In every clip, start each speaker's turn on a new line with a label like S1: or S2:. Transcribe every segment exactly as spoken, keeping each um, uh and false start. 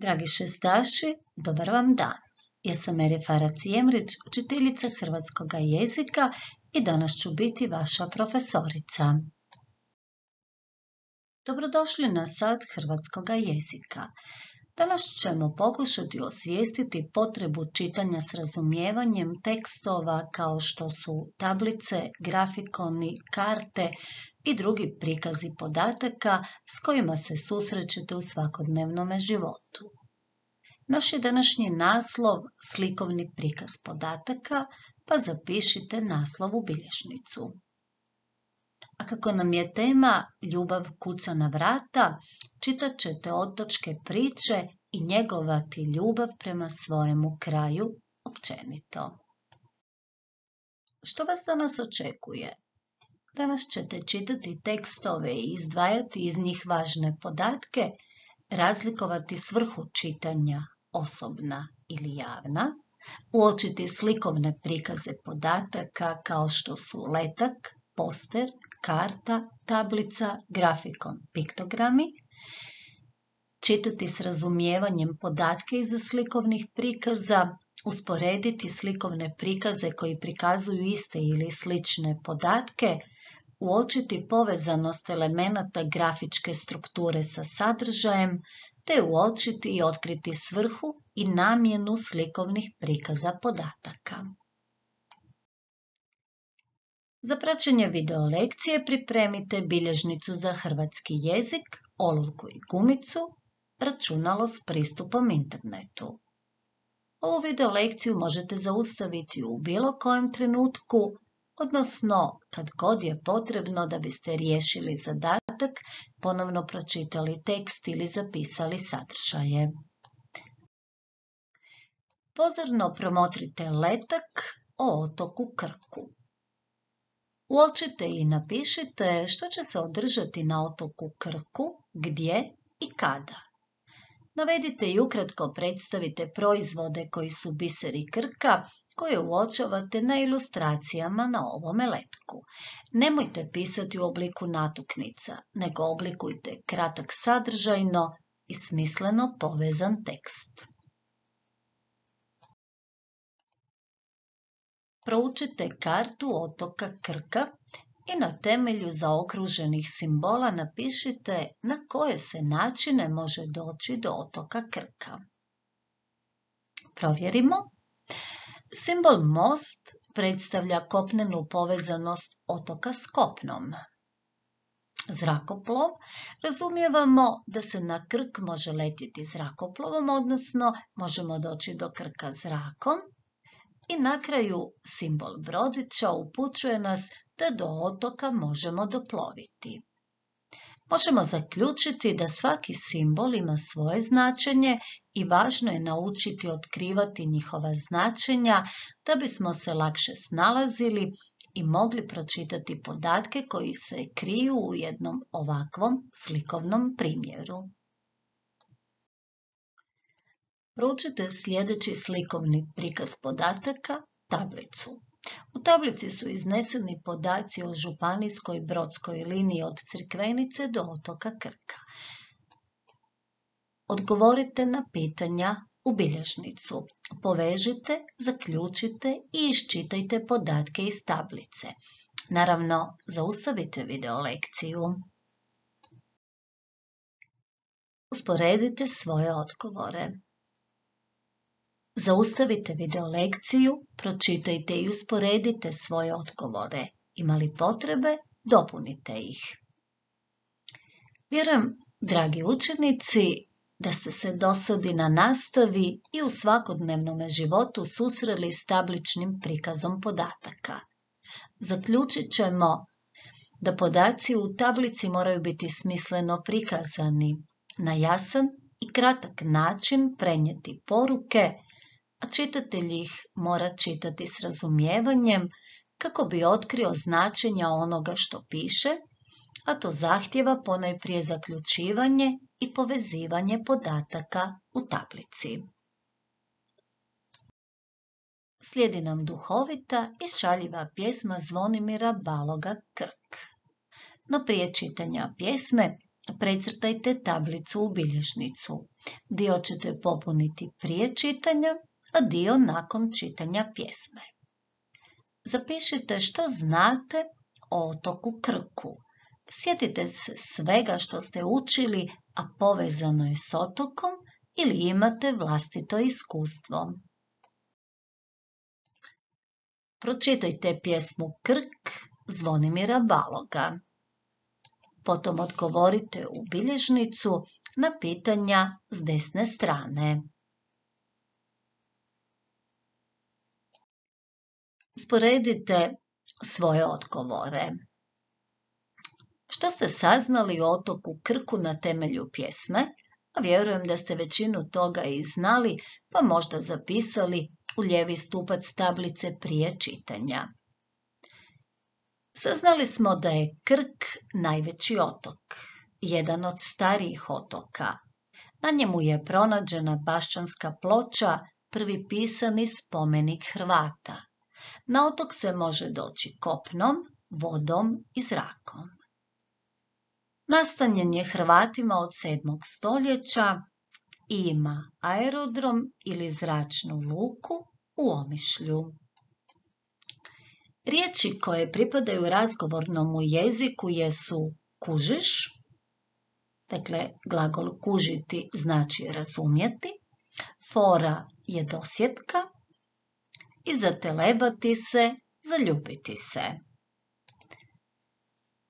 S1: Dragi šestaši, dobar vam dan. Ja sam Meri Farac Jemrić, učiteljica hrvatskog jezika i danas ću biti vaša profesorica. Dobrodošli na sat hrvatskog jezika. Danas ćemo pokušati osvijestiti potrebu čitanja s razumijevanjem tekstova kao što su tablice, grafikoni, karte i drugi prikazi podataka s kojima se susrećete u svakodnevnom životu. Naš je današnji naslov slikovni prikaz podataka, pa zapišite naslov u bilježnicu. A kako nam je tema ljubav kuca na vrata, čitat ćete otočke priče i njegovati ljubav prema svojemu kraju općenito. Što vas danas očekuje? Danas ćete čitati tekstove i izdvajati iz njih važne podatke, razlikovati svrhu čitanja, osobna ili javna, uočiti slikovne prikaze podataka kao što su letak, poster, karta, tablica, grafikon, piktogrami, čitati s razumijevanjem podatke iza slikovnih prikaza, usporediti slikovne prikaze koji prikazuju iste ili slične podatke, uočiti povezanost elemenata grafičke strukture sa sadržajem, te uočiti i otkriti svrhu i namjenu slikovnih prikaza podataka. Za praćenje video lekcije pripremite bilježnicu za hrvatski jezik, olovku i gumicu, računalo s pristupom internetu. Ovu video lekciju možete zaustaviti u bilo kojem trenutku, odnosno kad god je potrebno da biste riješili zadatak, ponovno pročitali tekst ili zapisali sadržaje. Pozorno promotrite letak o otoku Krku. Uočite i napišite što će se održati na otoku Krku, gdje i kada. Navedite i ukratko predstavite proizvode koji su biseri Krka, koje uočavate na ilustracijama na ovome letku. Nemojte pisati u obliku natuknica, nego oblikujte kratak sadržajno i smisleno povezan tekst. Proučite kartu otoka Krka i na temelju zaokruženih simbola napišite na koje se načine može doći do otoka Krka. Provjerimo. Simbol most predstavlja kopnenu povezanost otoka s kopnom. Zrakoplov razumijevamo da se na Krk može letjeti zrakoplovom, odnosno možemo doći do Krka zrakom. I na kraju simbol brodića upućuje nas da do otoka možemo doploviti. Možemo zaključiti da svaki simbol ima svoje značenje i važno je naučiti otkrivati njihova značenja da bismo se lakše snalazili i mogli pročitati podatke koji se kriju u jednom ovakvom slikovnom primjeru. Proučite sljedeći slikovni prikaz podataka, tablicu. U tablici su izneseni podaci o županijskoj brodskoj liniji od Crikvenice do otoka Krka. Odgovorite na pitanja u bilježnicu. Povežite, zaključite i iščitajte podatke iz tablice. Naravno, zaustavite video lekciju. Usporedite svoje odgovore. Zaustavite video lekciju, pročitajte i usporedite svoje odgovore. Ima li potrebe, dopunite ih. Vjerujem, dragi učenici, da ste se dosadi na nastavi i u svakodnevnom životu susreli s tabličnim prikazom podataka. Zaključit ćemo da podaci u tablici moraju biti smisleno prikazani, na jasan i kratak način prenijeti poruke, a čitatelj ih mora čitati s razumijevanjem kako bi otkrio značenja onoga što piše, a to zahtijeva ponajprije zaključivanje i povezivanje podataka u tablici. Slijedi nam duhovita i šaljiva pjesma Zvonimira Baloga Krk. No prije čitanja pjesme Precrtajte tablicu u bilježnicu. Dio ćete popuniti prije čitanja, a dio nakon čitanja pjesme. Zapišite što znate o otoku Krku. Sjetite se svega što ste učili, a povezano je s otokom ili imate vlastito iskustvo. Pročitajte pjesmu Krk Zvonimira Baloga. Potom odgovorite u bilježnicu na pitanja s desne strane. Sporedite svoje odgovore. Što ste saznali o otoku Krku na temelju pjesme? A vjerujem da ste većinu toga i znali, pa možda zapisali u lijevi stupac tablice prije čitanja. Saznali smo da je Krk najveći otok, jedan od starijih otoka. Na njemu je pronađena bašćanska ploča, prvi pisani spomenik Hrvata. Na otok se može doći kopnom, vodom i zrakom. Nastanjen je Hrvatima od sedmog stoljeća i ima aerodrom ili zračnu luku u Omišlju. Riječi koje pripadaju razgovornom jeziku jesu kužiš, dakle glagol kužiti znači razumjeti, fora je dosjetka i zatelebati se, zaljubiti se.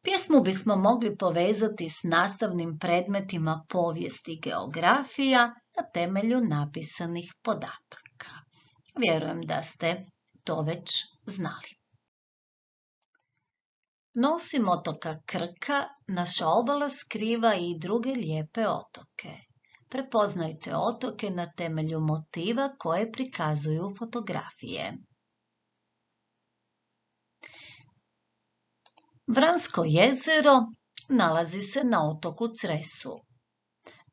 S1: Pjesmu bismo mogli povezati s nastavnim predmetima povijest i geografija na temelju napisanih podataka. Vjerujem da ste to već znali. No, osim otoka Krka, naša obala skriva i druge lijepe otoke. Prepoznajte otoke na temelju motiva koje prikazuju fotografije. Vransko jezero nalazi se na otoku Cresu.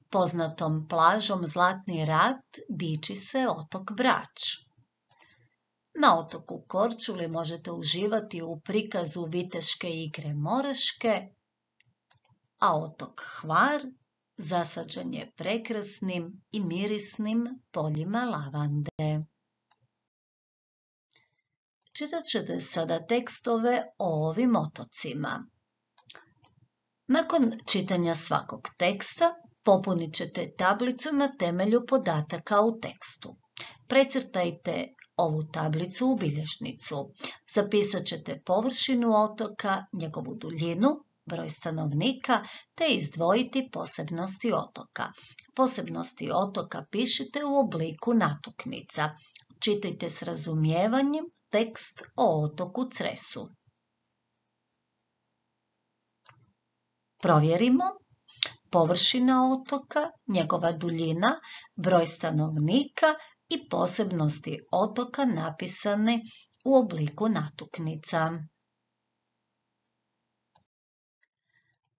S1: Poznatom plažom Zlatni rat diči se otok Brač. Na otoku Korčuli možete uživati u prikazu viteške igre Moraške, a otok Hvar zasađen je prekrasnim i mirisnim poljima lavande. Čitat ćete sada tekstove o ovim otocima. Nakon čitanja svakog teksta popunit ćete tablicu na temelju podataka u tekstu. Precrtajte ovu tablicu u bilježnicu. Zapisat ćete površinu otoka, njegovu duljinu, broj stanovnika, te izdvojiti posebnosti otoka. Posebnosti otoka pišite u obliku natuknica. Čitajte s razumijevanjem tekst o otoku Cresu. Provjerimo. Površina otoka, njegova duljina, broj stanovnika i posebnosti otoka napisane u obliku natuknica.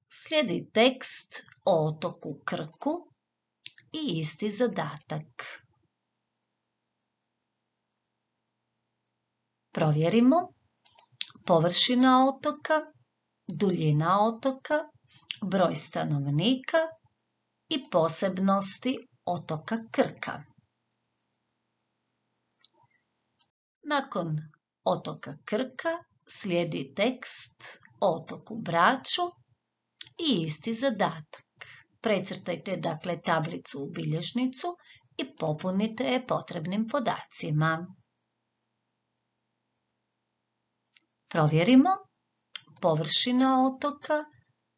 S1: Slijedi tekst o otoku Krku i isti zadatak. Provjerimo. Površina otoka, duljina otoka, broj stanovnika i posebnosti otoka Krka. Nakon otoka Krka slijedi tekst o otoku Braču i isti zadatak. Precrtajte dakle tablicu u bilježnicu i popunite je potrebnim podacima. Provjerimo. Površina otoka,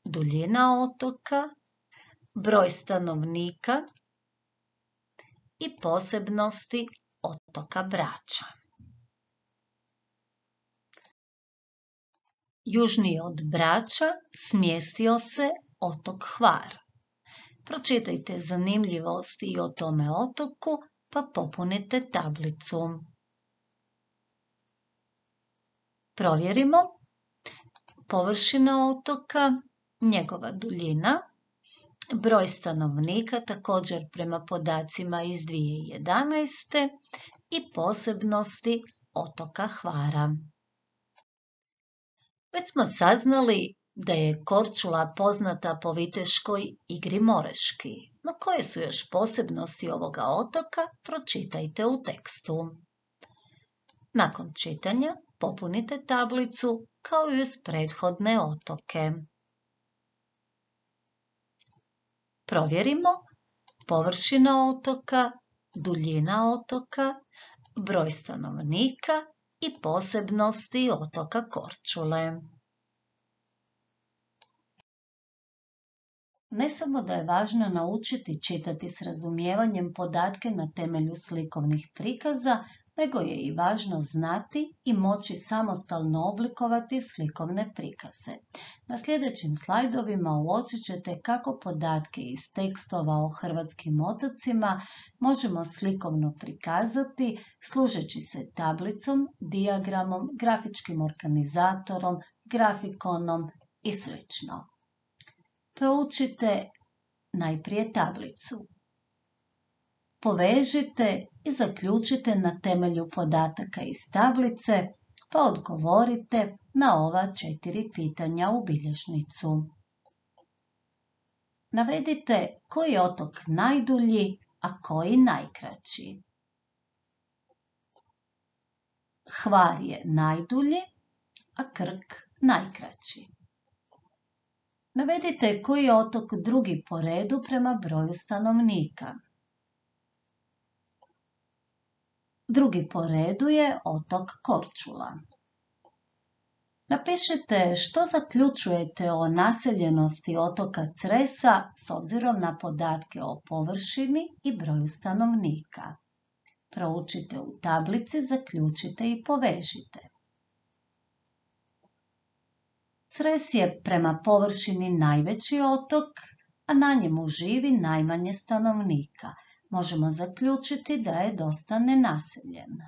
S1: duljina otoka, broj stanovnika i posebnosti otoka Brača. Južnije od Brača smjestio se otok Hvar. Pročitajte zanimljivosti o tome otoku pa popunite tablicu. Provjerimo. Površina otoka, njegova duljina, broj stanovnika također prema podacima iz dvije tisuće jedanaeste. i posebnosti otoka Hvara. Već smo saznali da je Korčula poznata po viteškoj igri Moreški. No koje su još posebnosti ovoga otoka, pročitajte u tekstu. Nakon čitanja popunite tablicu kao i uz prethodne otoke. Provjerimo površina otoka, duljina otoka, broj stanovnika i posebnosti otoka Korčule. Ne samo da je važno naučiti čitati s razumijevanjem podatke na temelju slikovnih prikaza, nego je i važno znati i moći samostalno oblikovati slikovne prikaze. Na sljedećim slajdovima uočit ćete kako podatke iz tekstova o hrvatskim otocima možemo slikovno prikazati služeći se tablicom, dijagramom, grafičkim organizatorom, grafikonom i sl. Proučite najprije tablicu. Povežite i zaključite na temelju podataka iz tablice, pa odgovorite na ova četiri pitanja u bilježnicu. Navedite koji je otok najdulji, a koji najkraći. Hvar je najdulji, a Krk najkraći. Navedite koji je otok drugi po redu prema broju stanovnika. Drugi po redu je otok Korčula. Napišite što zaključujete o naseljenosti otoka Cresa s obzirom na podatke o površini i broju stanovnika. Proučite u tablici, zaključite i povežite. Cres je prema površini najveći otok, a na njemu živi najmanje stanovnika. Možemo zaključiti da je dosta nenaseljen.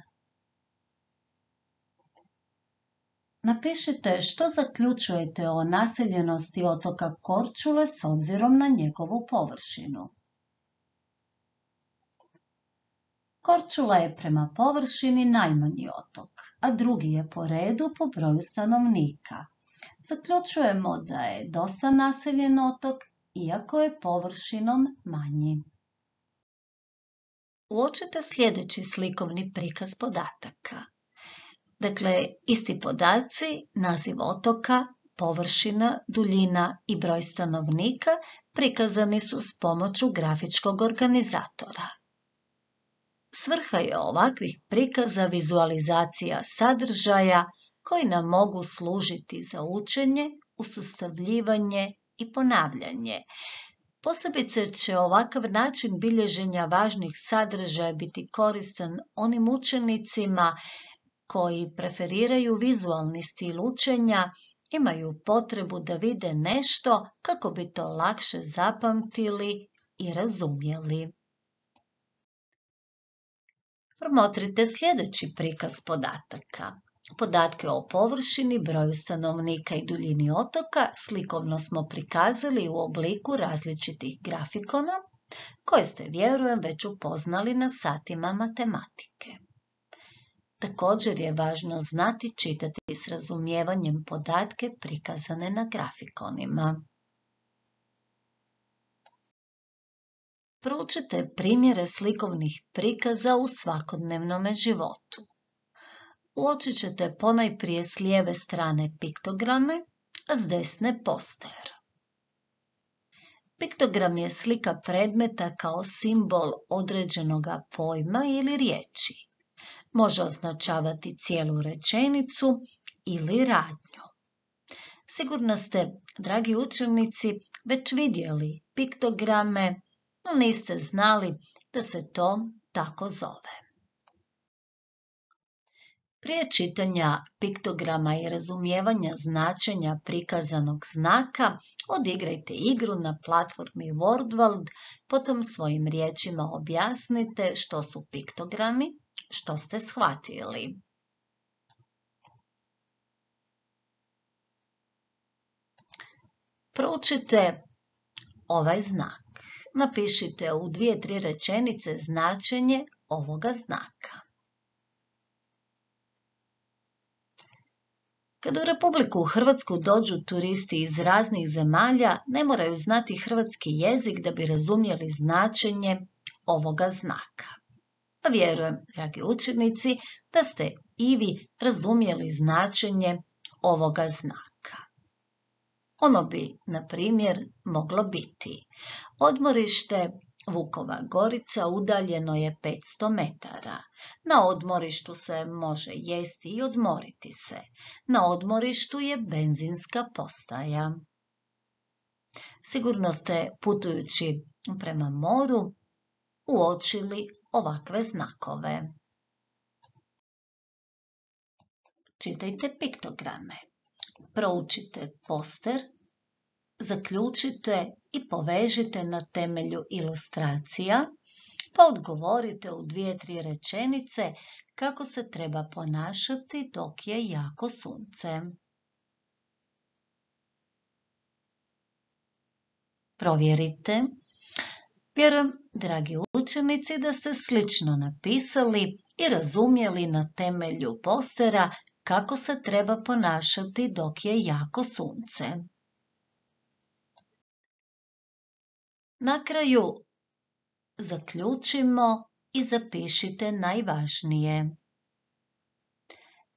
S1: Napišite što zaključujete o naseljenosti otoka Korčule s obzirom na njegovu površinu. Korčula je prema površini najmanji otok, a drugi je po redu po broju stanovnika. Zaključujemo da je dosta naseljen otok, iako je površinom manji. Uočite sljedeći slikovni prikaz podataka. Dakle, isti podaci, naziv otoka, površina, duljina i broj stanovnika prikazani su s pomoću grafičkog organizatora. Svrha je ovakvih prikaza vizualizacija sadržaja koji nam mogu služiti za učenje, usustavljivanje i ponavljanje. Posebice će ovakav način bilježenja važnih sadržaja biti koristan onim učenicima koji preferiraju vizualni stil učenja, imaju potrebu da vide nešto kako bi to lakše zapamtili i razumjeli. Promotrite sljedeći prikaz podataka. Podatke o površini, broju stanovnika i duljini otoka slikovno smo prikazali u obliku različitih grafikona, koje ste, vjerujem, već upoznali na satima matematike. Također je važno znati čitati s razumijevanjem podatke prikazane na grafikonima. Proučite primjere slikovnih prikaza u svakodnevnom životu. Uočit ćete ponajprije s lijeve strane piktograme, a s desne poster. Piktogram je slika predmeta kao simbol određenog pojma ili riječi. Može označavati cijelu rečenicu ili radnju. Sigurno ste, dragi učenici, već vidjeli piktograme, no niste znali da se to tako zove. Prije čitanja piktograma i razumijevanja značenja prikazanog znaka, odigrajte igru na platformi WordWorld, potom svojim riječima objasnite što su piktogrami, što ste shvatili. Proučite ovaj znak. Napišite u dvije, tri rečenice značenje ovoga znaka. Kad u Republiku Hrvatsku dođu turisti iz raznih zemalja, ne moraju znati hrvatski jezik da bi razumjeli značenje ovoga znaka. Pa vjerujem, dragi učenici, da ste i vi razumjeli značenje ovoga znaka. Ono bi, na primjer, moglo biti: odmorište Vukova Gorica udaljeno je petsto metara. Na odmorištu se može jesti i odmoriti se. Na odmorištu je benzinska postaja. Sigurno ste, putujući prema moru, uočili ovakve znakove. Čitajte piktograme. Proučite poster, zaključite i povežite na temelju ilustracija, pa odgovorite u dvije, tri rečenice kako se treba ponašati dok je jako sunce. Provjerite. Vjerujem, dragi učenici, da ste slično napisali i razumjeli na temelju postera kako se treba ponašati dok je jako sunce. Na kraju zaključimo i zapišite najvažnije.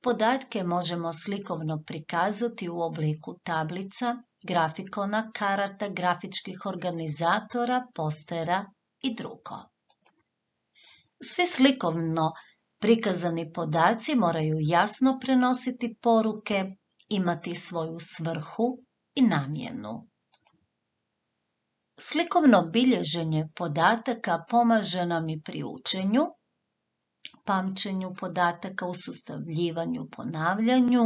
S1: Podatke možemo slikovno prikazati u obliku tablica, grafikona, karata, grafičkih organizatora, postera i drugo. Svi slikovno prikazani podaci moraju jasno prenositi poruke, imati svoju svrhu i namjenu. Slikovno bilježenje podataka pomaže nam i pri učenju, pamćenju podataka, usustavljivanju, ponavljanju.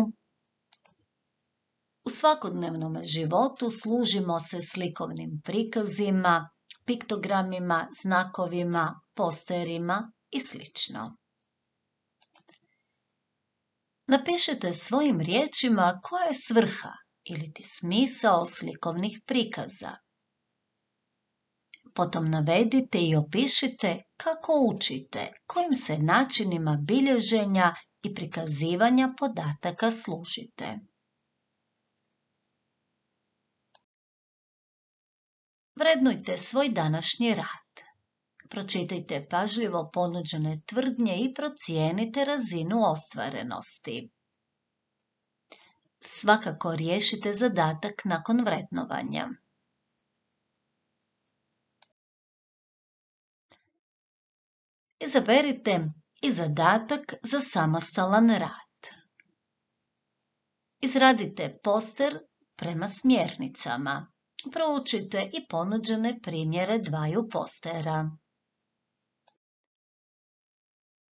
S1: U svakodnevnom životu služimo se slikovnim prikazima, piktogramima, znakovima, posterima i slično. Napišite svojim riječima koja je svrha ili ti smisao slikovnih prikaza. Potom navedite i opišite kako učite, kojim se načinima bilježenja i prikazivanja podataka služite. Vrednujte svoj današnji rad. Pročitajte pažljivo ponuđene tvrdnje i procijenite razinu ostvarenosti. Svakako riješite zadatak nakon vrednovanja. Izaberite i zadatak za samostalan rad. Izradite poster prema smjernicama. Proučite i ponuđene primjere dvaju postera.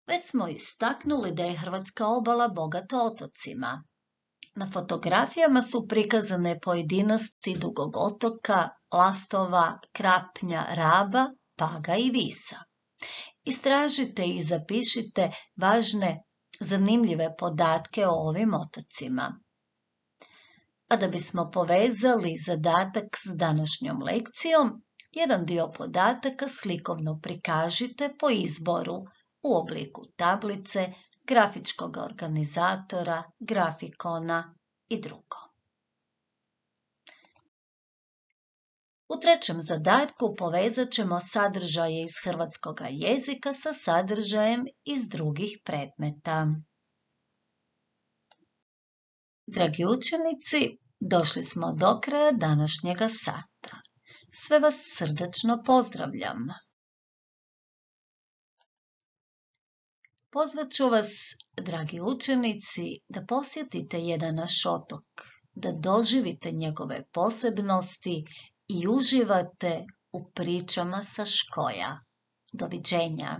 S1: Već smo istaknuli da je hrvatska obala bogata otocima. Na fotografijama su prikazane pojedinosti Dugog otoka, Lastova, Krapnja, Raba, Paga i Visa. Istražite i zapišite važne, zanimljive podatke o ovim otocima. A da bismo povezali zadatak s današnjom lekcijom, jedan dio podataka slikovno prikažite po izboru u obliku tablice, grafičkog organizatora, grafikona i drugo. U trećem zadatku povezat ćemo sadržaje iz hrvatskog jezika sa sadržajem iz drugih predmeta. Dragi učenici, došli smo do kraja današnjega sata. Sve vas srdačno pozdravljam. Pozvat ću vas, dragi učenici, da posjetite jedan naš otok, da doživite njegove posebnosti i uživate u pričama sa škoja. Doviđenja!